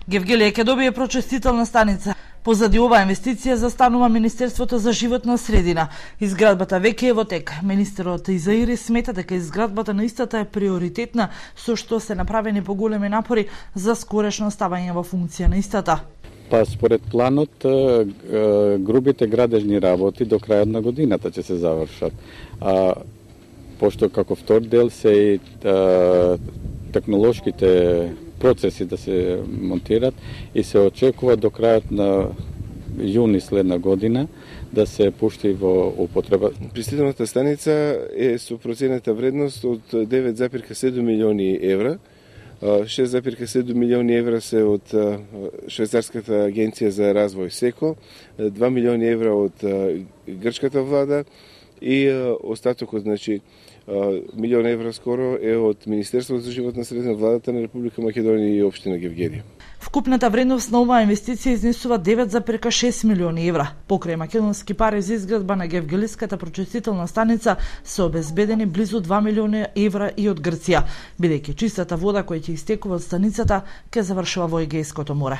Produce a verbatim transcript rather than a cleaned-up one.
Гевгелија ќе добие прочистителна станица. Позади оваа инвестиција застанува Министерството за животна средина. Изградбата веќе е во тек. Министерот Изаири смета дека изградбата на истата е приоритетна, со што се направени поголеми напори за скорешно ставање во функција на истата. Па според планот, грубите градежни работи до крајот на годината ќе се завршат. А пошто како втор дел се и технолошките процеси да се монтират и се очекува до крајот на јуни следна година да се пушти во употреба. Пристигналата станица е со проценета вредност од девет зарез седум милиони евра. шест зарез седум милиони евра се од швајцарската агенција за развој СЕКО, два милиони евра од грчката влада и остатокот, значи милион евра скоро е од Министерството за животна средина, владата на Република Македонија и општина Гевгелија. Вкупната вредност на оваа инвестиција изнесува девет зарез шест милиони евра. Покрај македонски пари за изградба на Гевгелиската прочистителна станица се обезбедени близу два милиони евра и од Грција, бидејќи чистата вода која ќе истекува од станицата ќе завршува во Егејското море.